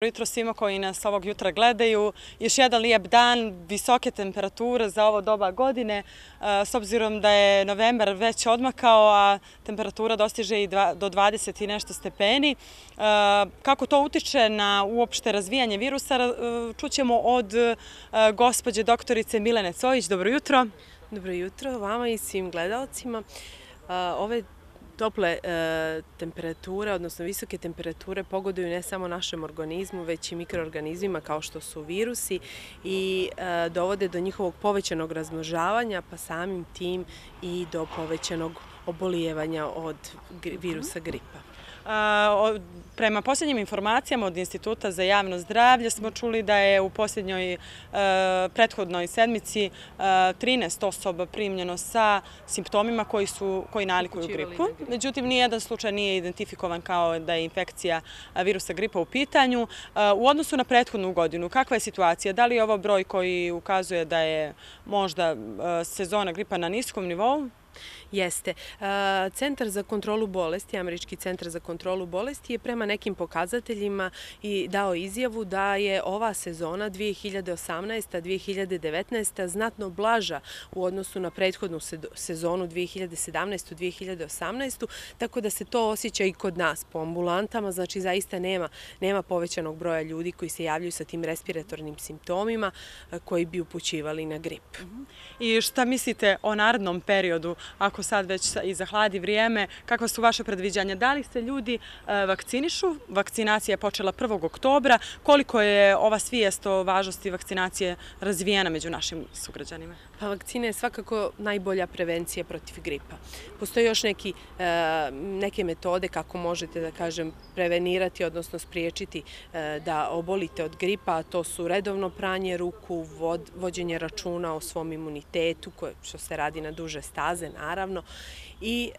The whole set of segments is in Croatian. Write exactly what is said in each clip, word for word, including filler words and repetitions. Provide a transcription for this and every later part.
Jutro svima koji nas ovog jutra gledaju. Još jedan lijep dan, visoke temperature za ovo doba godine. S obzirom da je novembar već odmakao, a temperatura dostiže i do dvadeset i nešto stepeni. Kako to utiče na uopšte razvijanje virusa, čućemo od gospođe doktorice Milene Cojić. Dobro jutro. Dobro jutro vama i svim gledalcima. Ove tople temperature, odnosno visoke temperature, pogoduju ne samo našem organizmu, već i mikroorganizmima kao što su virusi i dovode do njihovog povećanog razmnožavanja, pa samim tim i do povećanog obolijevanja od virusa gripa. Prema posljednjim informacijama od Instituta za javno zdravlje smo čuli da je u posljednjoj prethodnoj sedmici trinaest osoba primljeno sa simptomima koji su koji nalikuju gripu. Međutim, nijedan slučaj nije identifikovan kao da je infekcija virusa gripa u pitanju. U odnosu na prethodnu godinu, kakva je situacija? Da li je ovo broj koji ukazuje da je možda sezona gripa na niskom nivou? Jeste. Centar za kontrolu bolesti, Američki centar za kontrolu bolesti je prema nekim pokazateljima i dao izjavu da je ova sezona dvije hiljade osamnaesta dvije hiljade devetnaesta znatno blaža u odnosu na prethodnu sezonu dvije hiljade sedamnaestu dvije hiljade osamnaestu, tako da se to osjeća i kod nas po ambulantama, znači zaista nema, nema povećanog broja ljudi koji se javljaju sa tim respiratornim simptomima koji bi upućivali na grip. I šta mislite o narednom periodu, ako sad već i zahladi vrijeme, kakva su vaše predviđanja? Da li se ljudi vakcinišu? Vakcinacija je počela prvog oktobra. Koliko je ova svijest o važnosti vakcinacije razvijena među našim sugrađanima? Pa vakcina je svakako najbolja prevencija protiv gripa. Postoje još neki, neke metode kako možete, da kažem, prevenirati, odnosno spriječiti da obolite od gripa, a to su redovno pranje ruku, vođenje računa o svom imunitetu, što se radi na duže staze, naravno, i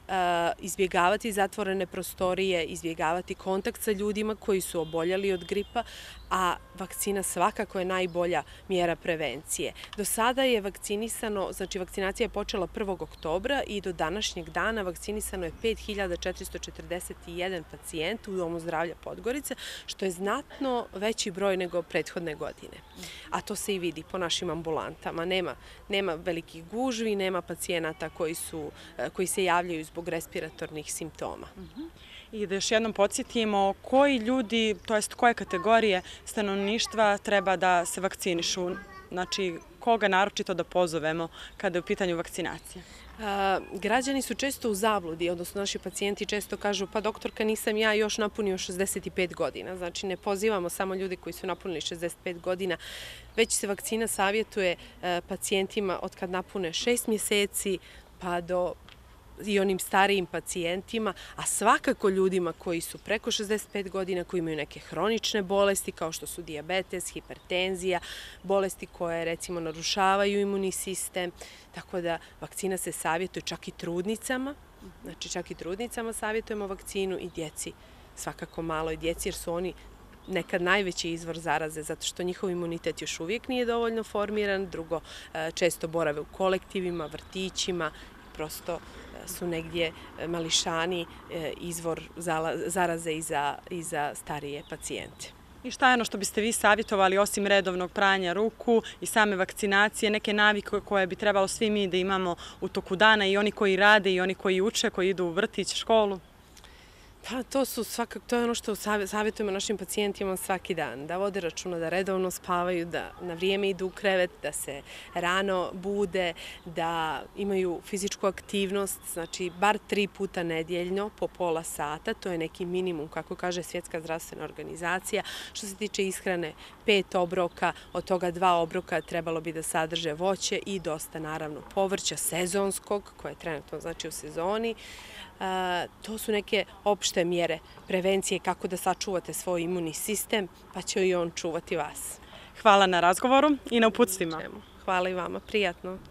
izbjegavati zatvorene prostorije, izbjegavati kontakt sa ljudima koji su oboljeli od gripa, a vakcina svakako je najbolja mjera prevencije. Do sada je vakcinisano, znači vakcinacija je počela prvog oktobra i do današnjeg dana vakcinisano je pet hiljada četiristo četrdeset jedan pacijent u Domu zdravlja Podgorica, što je znatno veći broj nego prethodne godine. A to se i vidi po našim ambulantama. Nema, nema velikih gužvi, nema pacijenata koji, su, koji se javljaju zbog respiratornih simptoma. I da još jednom podsjetimo koji ljudi, to jest koje kategorije stanovništva treba da se vakcinišu, znači koga naročito da pozovemo kada je u pitanju vakcinacije? Građani su često u zabludi, odnosno naši pacijenti često kažu pa doktorka nisam ja još napunio šezdeset pet godina, znači ne pozivamo samo ljude koji su napunili šezdeset pet godina, već se vakcina savjetuje pacijentima od kad napune šest mjeseci pa do i onim starijim pacijentima, a svakako ljudima koji su preko šezdeset pet godina, koji imaju neke hronične bolesti kao što su dijabetes, hipertenzija, bolesti koje recimo narušavaju imunni sistem, tako da vakcina se savjetuje čak i trudnicama, znači čak i trudnicama savjetujemo vakcinu i djeci, svakako maloj djeci jer su oni nekad najveći izvor zaraze zato što njihov imunitet još uvijek nije dovoljno formiran, drugo često borave u kolektivima, vrtićima, prosto su negdje mališani izvor zaraze i za, i za starije pacijente. I šta je ono što biste vi savjetovali osim redovnog pranja ruku i same vakcinacije, neke navike koje bi trebalo svi mi da imamo u toku dana, i oni koji rade i oni koji uče, koji idu u vrtić, školu? Pa to su svakako, to je ono što savjetujemo našim pacijentima svaki dan, da vode računa, da redovno spavaju, da na vrijeme idu u krevet, da se rano bude, da imaju fizičku aktivnost, znači bar tri puta nedjeljno po pola sata, to je neki minimum, kako kaže Svjetska zdravstvena organizacija. Što se tiče ishrane, pet obroka, od toga dva obroka trebalo bi da sadrže voće i dosta naravno povrća sezonskog, koje je trenutno znači u sezoni. To su neke opšte mjere prevencije kako da sačuvate svoj imunni sistem, pa će i on čuvati vas. Hvala na razgovoru i na uputstvima. Hvala i vama, prijatno.